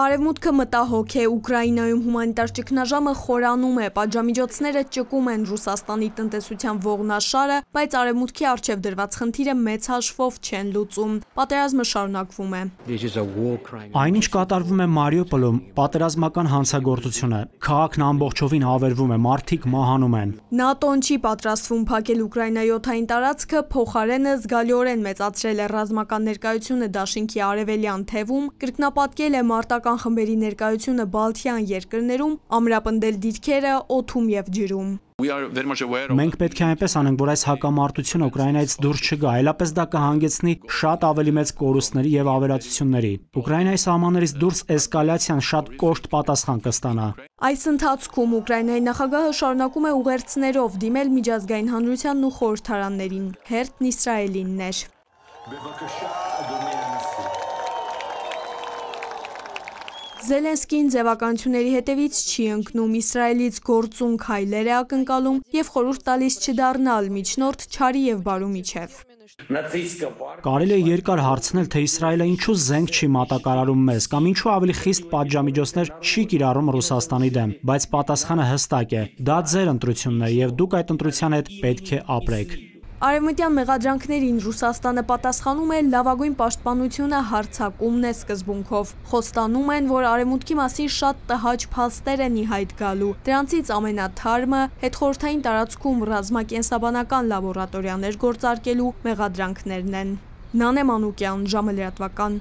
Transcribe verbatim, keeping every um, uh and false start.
Արևմուտքը մտահոգ է, Ուկրաինայում հումանիտար ճգնաժամը խորանում է, պատժամիջոցները ճկում են Ռուսաստանի տնտեսության ողնաշարը, բայց Արևմուտքի առջև դրված խնդիրը մեծ հաշվով չեն լուծում։ Պատերազմը շարունակվում է։ Այնինչ կատարվում է Մարիուպոլում, պատերազմական հանցագործություն է։ Քաղաքն ամբողջովին ավերվում է, մարդիկ մահանում են։ ՆԱՏՕ-ն չի պատրաստվում փակել Ուկրաինայի օդային տարածքը, փոխարենը զգալիորեն մեծացրել է ռազմական ներկայությունը դաշինքի արևելյան թևում, կրկնապատկել է մարտական խմբերի ներկայությունը Բալթյան երկրներում, ամրապնդել դիրքերը օդում եւ ջրում։ Մենք պետք է այնպես անենք, որ այս հակամարտությունը Ուկրաինայից դուրս չգա, այլապես դա կհանգեցնի շատ ավելի մեծ կորուստների եւ ավերածությունների։ Ուկրաինայի սահմաններից դուրս էսկալացիան շատ կոշտ պատասխան կստանա։ Այս ընթացքում Ուկրաինայի նախագահը շարունակում է ուղերձներով դիմել միջազգային հանրությանն ու խորհրդարաններին։ Հերթն Իսրայելինն էր։ Զելենսկին ձևականությունների հետևից չի ընկնում, Իսրայելից գործուն քայլեր է ակնկալում եւ խորհուրդ տալիս չդառնալ միջնորդ չարի եւ բարու միջև։ Կարելի է երկար հարցնել, թե Իսրայելը ինչու զենք չի մատակարարում մեզ, կամ ինչու ավելի խիստ պատժամիջոցներ չի կիրառում Ռուսաստանի դեմ, բայց պատասխանը հստակ է։ Դա ձեր ընտրությունն է եւ դուք այդ ընտրության հետ պետք է ապրեք։ Արևմտյան մեղադրանքներին Ռուսաստանը պատասխանում է լավագույն պաշտպանությունը հարձակումն է սկզբունքով։ Խոստանում են, որ Արևմուտքի մասին շատ տհաճ փաստեր են ի հայտ գալու։ Դրանցից ամենաթարմը հետխորհրդային տարածքում ռազմակենսաբանական լաբորատորիաներ գործարկելու մեղադրանքներն են։ Նանե Մանուկյան, ժամը լրատվական։